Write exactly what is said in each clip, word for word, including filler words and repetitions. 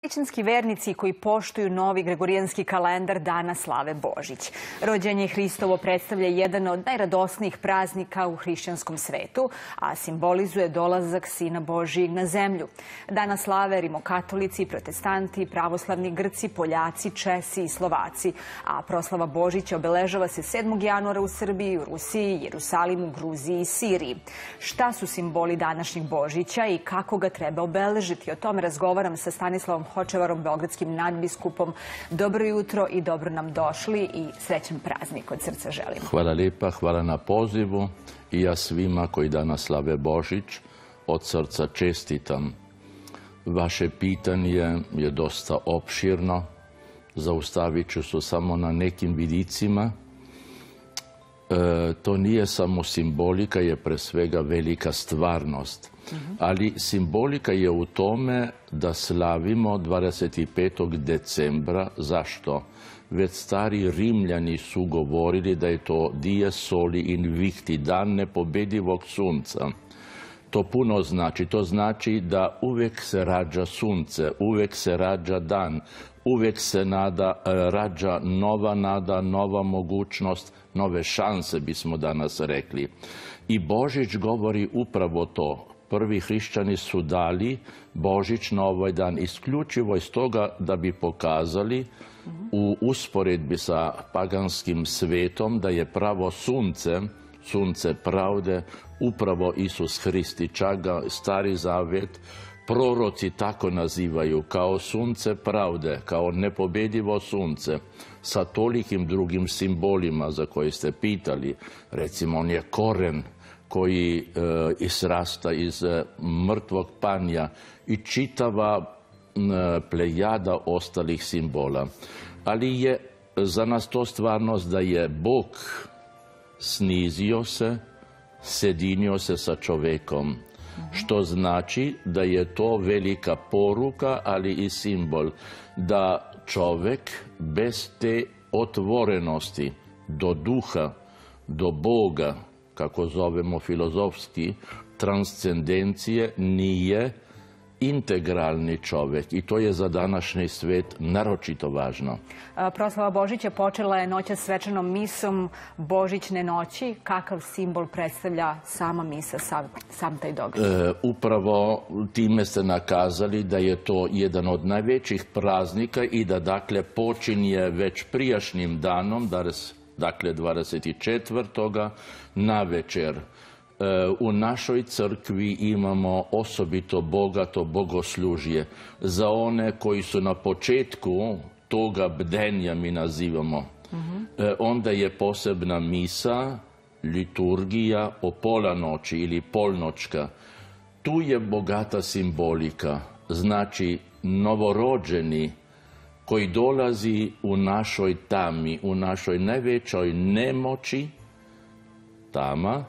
Većinski vernici koji poštuju novi gregorijanski kalendar danas slave Božić. Rođenje Hristovo predstavlja jedan od najradosnijih praznika u hrišćanskom svetu, a simbolizuje dolazak Sina Božijeg na zemlju. Danas slave rimokatolici, protestanti, pravoslavni Grci, Poljaci, Česi i Slovaci, a proslava Božića obeležava se sedmog januara u Srbiji, u Rusiji, Jerusalimu, Gruziji i Siriji. Šta su simboli današnjeg Božića i kako ga treba obeležiti? O tome razgovaram sa Stanislavom Hočevarom, beogradskim nadbiskupom. Dobro jutro i dobro nam došli i srećan praznik od srca želim. Hvala lijepa, hvala na pozivu i ja svima koji danas slave Božić od srca čestitam. Vaše pitanje je dosta opširno, zaustavit ću se samo na nekim vidicima. E, to nije samo simbolika, je pre svega velika stvarnost. Ali simbolika je u tome da slavimo dvadeset petog decembra. Zašto? Već stari Rimljani su govorili da je to dies soli invicti, dan nepobedivog sunca. To puno znači. To znači da uvijek se rađa sunce, uvijek se rađa dan, uvijek se nada, rađa nova nada, nova mogućnost, nove šanse bismo danas rekli. I Božić govori upravo to. Prvi hrišćani su dali Božić na ovaj dan isključivo iz toga da bi pokazali u usporedbi sa paganskim svetom da je pravo sunce, sunce pravde, upravo Isus Hristi. Čak ga Stari Zavet proroci tako nazivaju, kao sunce pravde, kao nepobedivo sunce, sa tolikim drugim simbolima za koje ste pitali. Recimo, on je koren koji e, izrasta iz e, mrtvog panja i čitava e, plejada ostalih simbola. Ali je za nas to stvarnost da je Bog snizio se, sedinio se sa čovekom, što znači da je to velika poruka, ali i simbol da čovek bez te otvorenosti do duha, do Boga, kako zovemo filozofski, transcendencije, nije integralni čovjek i to je za današnji svet naročito važno. Proslava Božića počela je noćas svečanom misom Božićne noći. Kakav simbol predstavlja sama misa, sam, sam taj događaj? E, upravo time ste nakazali da je to jedan od najvećih praznika i da dakle počinje već prijašnjim danom, dakle dvadeset četvrtoga na večer. U našoj crkvi imamo osobito bogato bogoslužje za one koji su na početku toga bdenja, mi nazivamo. Onda je posebna misa, liturgija o pola noći ili polnočka. Tu je bogata simbolika, znači novorođeni koji dolazi u našoj tami, u našoj najvećoj nemoći, tama,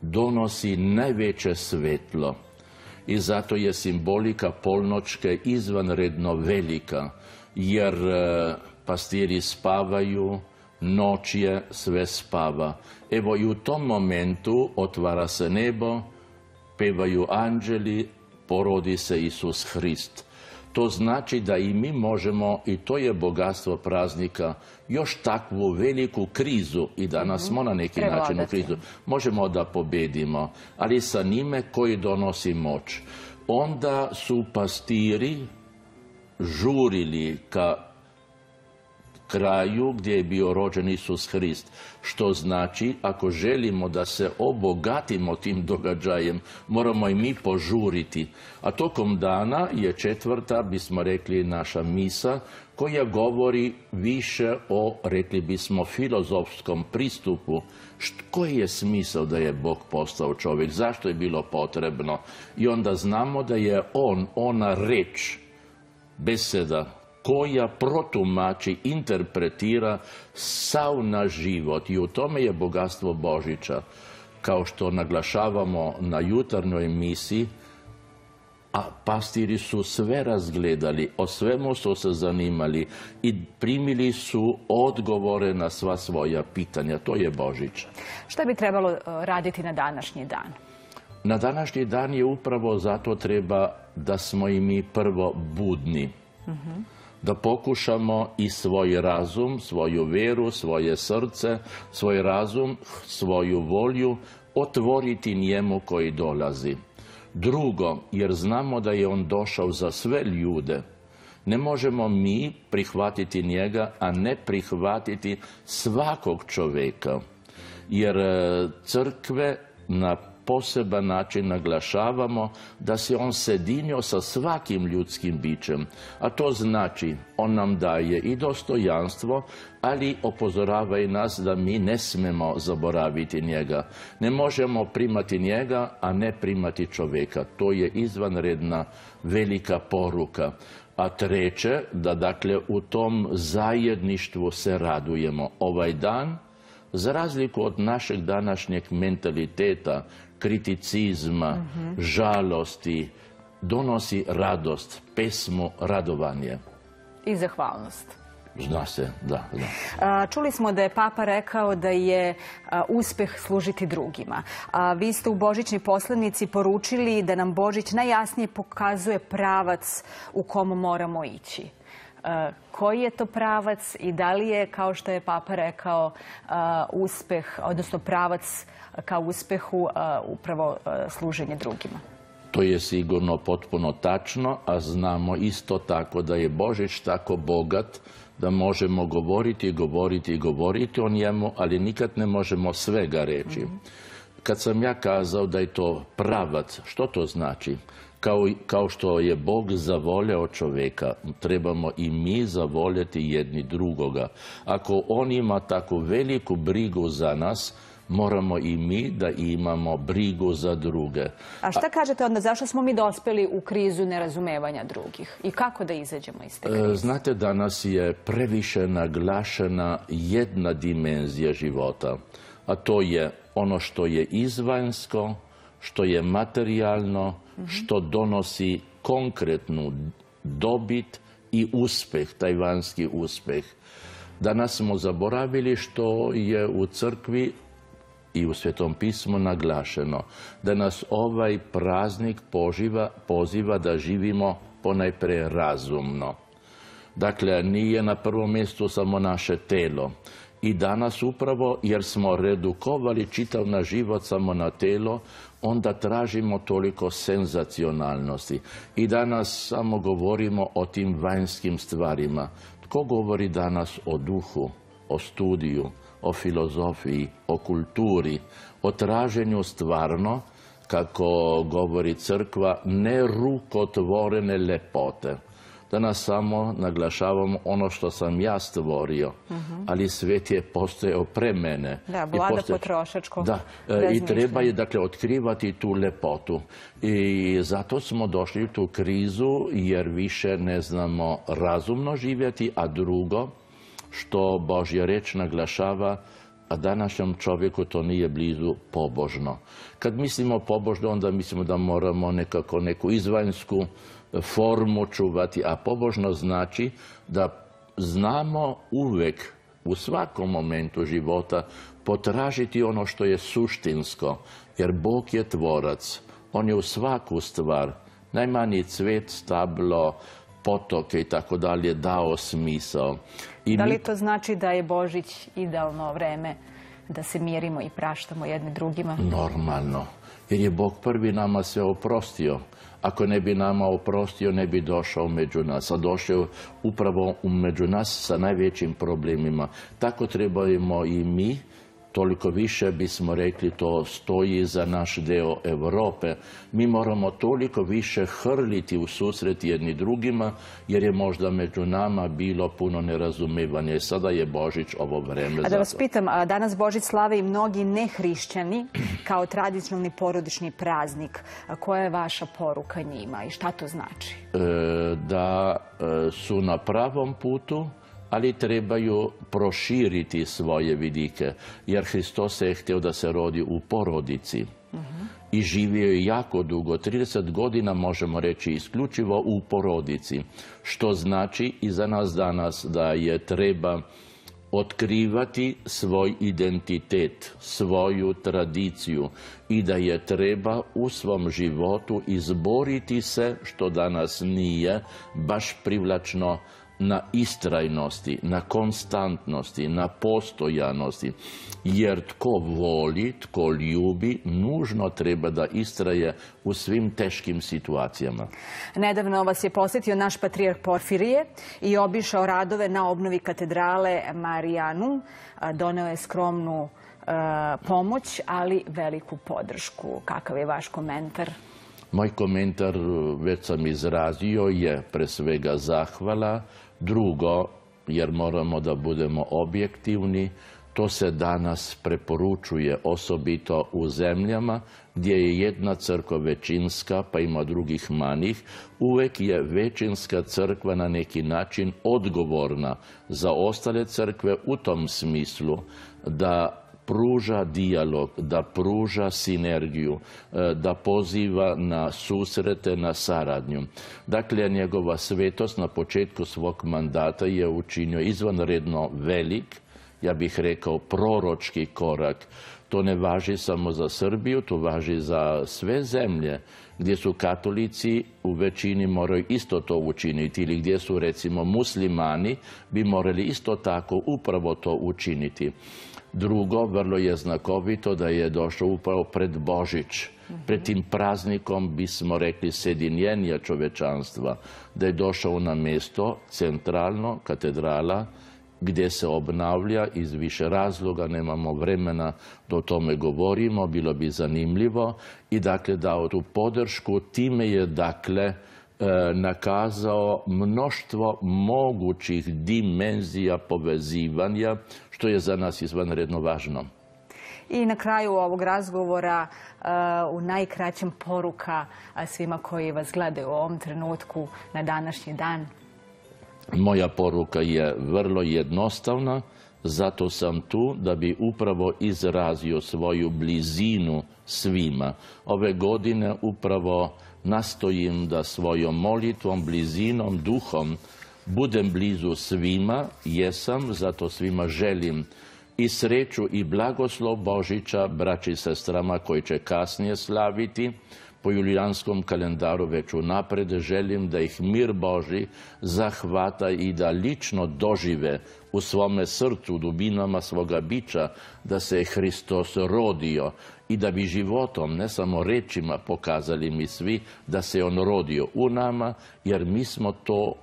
donosi najveće svetlo. I zato je simbolika polnočke izvanredno velika, jer pastiri spavaju, noć je, sve spava. Evo i u tom momentu otvara se nebo, pevaju anđeli, porodi se Isus Hrist. To znači da i mi možemo, i to je bogatstvo praznika, još takvu veliku krizu, i danas smo na neki način u krizu, možemo da pobedimo, ali sa njime koji donosi moć. Onda su pastiri žurili ka kraju gdje je bio rođen Isus Hrist, što znači ako želimo da se obogatimo tim događajem, moramo i mi požuriti. A tokom dana je četvrta, bismo rekli, naša misa, koja govori više o, rekli bismo, filozofskom pristupu. Koji je smisao da je Bog postao čovjek? Zašto je bilo potrebno? I onda znamo da je on, ona reč, beseda, koja protumači, interpretira sav naš život. I u tome je bogatstvo Božića. Kao što naglašavamo na jutarnjoj misi, a pastiri su sve razgledali, o svemu su se zanimali i primili su odgovore na sva svoja pitanja. To je Božić. Šta bi trebalo raditi na današnji dan? Na današnji dan je upravo zato treba da smo i mi prvo budni. Da pokušamo i svoj razum, svoju vjeru, svoje srce, svoj razum, svoju volju otvoriti njemu koji dolazi. Drugo, jer znamo da je on došao za sve ljude, ne možemo mi prihvatiti njega, a ne prihvatiti svakog čovjeka. Jer crkve na poseban način naglašavamo da se on sjedinio sa svakim ljudskim bićem. A to znači, on nam daje i dostojanstvo, ali upozorava i nas da mi ne smemo zaboraviti njega. Ne možemo primati njega, a ne primati čovjeka. To je izvanredna velika poruka. A treće, da dakle u tom zajedništvu se radujemo. Ovaj dan, za razliku od našeg današnjeg mentaliteta, kriticizma, žalosti, donosi radost, pesmu, radovanje. I zahvalnost. Zna se, da, da. Čuli smo da je Papa rekao da je uspeh služiti drugima. Vi ste u Božićnoj poslanici poručili da nam Božić najjasnije pokazuje pravac u kom moramo ići. Koji je to pravac i da li je, kao što je Papa rekao, uspeh, odnosno pravac ka uspehu upravo služenje drugima? To je sigurno potpuno tačno, a znamo isto tako da je Božić tako bogat da možemo govoriti, govoriti i govoriti o njemu, ali nikad ne možemo svega reći. Kad sam ja kazao da je to pravac, što to znači? Kao, kao što je Bog zavoleo čovjeka, trebamo i mi zavoljeti jedni drugoga. Ako on ima tako veliku brigu za nas, moramo i mi da imamo brigu za druge. A šta kažete onda, zašto smo mi dospeli u krizu nerazumevanja drugih? I kako da izađemo iz te krize? Znate, danas je previše naglašena jedna dimenzija života, a to je ono što je izvanjsko, što je materijalno, što donosi konkretnu dobit i uspeh, taj vanjski uspeh. Danas smo zaboravili što je u crkvi i u Svetom pismu naglašeno, da nas ovaj praznik poživa, poziva da živimo ponajprije razumno. Dakle, nije na prvom mjestu samo naše telo. I danas upravo, jer smo redukovali čitav naš život samo na telo, onda tražimo toliko senzacionalnosti. I danas samo govorimo o tim vanjskim stvarima. Tko govori danas o duhu, o studiju, o filozofiji, o kulturi, o traženju stvarno, kako govori crkva, nerukotvorene lepote? Danas samo naglašavamo ono što sam ja stvorio, ali svijet je postojao pre mene. Da, vlada potrošačko. Da, i treba je dakle otkrivati tu lepotu. I zato smo došli u tu krizu, jer više ne znamo razumno živjeti, a drugo, što Božja reč naglašava, a današnjem čovjeku to nije blizu pobožno. Kad mislimo pobožno, onda mislimo da moramo nekako neku izvanjsku formu čuvati, a pobožno znači da znamo uvijek u svakom momentu života potražiti ono što je suštinsko, jer Bog je tvorac, on je u svaku stvar, najmanji cvet, stablo, potoke i tako dalje dao smisao. Da li to znači da je Božić idealno vreme da se mirimo i praštamo jedni drugima? Normalno, jer je Bog prvi nama sve oprostio. Ako ne bi nama oprostio, ne bi došao među nas, a došao upravo među nas sa najvećim problemima. Tako trebamo i mi, toliko više bismo rekli, to stoji za naš deo Europe. Mi moramo toliko više hrliti u susret jedni drugima, jer je možda među nama bilo puno nerazumevanja. I sada je Božić ovo vreme. A da vas pitam, a danas Božić slave i mnogi nehrišćani kao tradicionalni porodični praznik. A koja je vaša poruka njima i šta to znači? E, da e, su na pravom putu, ali trebaju proširiti svoje vidike, jer Hristos je htio da se rodi u porodici. I živio je jako dugo, trideset godina možemo reći isključivo u porodici, što znači i za nas danas da je treba otkrivati svoj identitet, svoju tradiciju i da je treba u svom životu izboriti se, što danas nije baš privlačno, na istrajnosti, na konstantnosti, na postojanosti. Jer tko voli, tko ljubi, nužno treba da istraje u svim teškim situacijama. Nedavno vas je posjetio naš patrijarh Porfirije i obišao radove na obnovi katedrale Marijanum. Doneo je skromnu e, pomoć, ali veliku podršku. Kakav je vaš komentar? Moj komentar, već sam izrazio, je pre svega zahvala. Drugo, jer moramo da budemo objektivni, to se danas preporučuje osobito u zemljama gdje je jedna crkva većinska, pa ima drugih manjih. Uvek je većinska crkva na neki način odgovorna za ostale crkve u tom smislu da pruža dijalog, da pruža sinergiju, da poziva na susrete, na saradnju. Dakle, njegova svetost na početku svog mandata je učinio izvanredno velik, ja bih rekao proročki korak. To ne važi samo za Srbiju, to važi za sve zemlje gdje su katolici u većini moraju isto to učiniti ili gdje su recimo muslimani bi morali isto tako upravo to učiniti. Drugo, vrlo je znakovito da je došao upravo pred Božić. Pred tim praznikom bismo rekli sjedinjenja čovečanstva, da je došao na mjesto centralno, katedrala, gdje se obnavlja iz više razloga, nemamo vremena da o tome govorimo, bilo bi zanimljivo i dakle dao tu podršku, time je dakle nakazao mnoštvo mogućih dimenzija povezivanja, što je za nas izvanredno važno. I na kraju ovog razgovora u najkraćem poruka svima koji vas gledaju u ovom trenutku na današnji dan. Moja poruka je vrlo jednostavna, zato sam tu da bi upravo izrazio svoju blizinu svima. Ove godine upravo nastojim da svojom molitvom, blizinom, duhom budem blizu svima, jesam, zato svima želim i sreću i blagoslov Božića braći i sestrama koji će kasnije slaviti. Po julijanskom kalendaru već unapred želim da ih mir Boži zahvata i da lično dožive u svome srcu, u dubinama svoga bića, da se je Hristos rodio i da bi životom, ne samo rečima, pokazali mi svi da se je on rodio u nama, jer mi smo to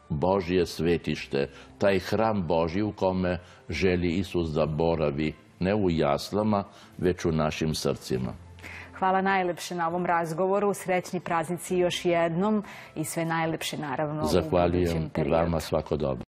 Božje svetište, taj hram Božji u kome želi Isus da boravi, ne u jaslama, već u našim srcima. Hvala najlepše na ovom razgovoru. Srećni praznici još jednom i sve najlepše naravno u budućem periodu. Zahvaljujem i vama, svako dobro.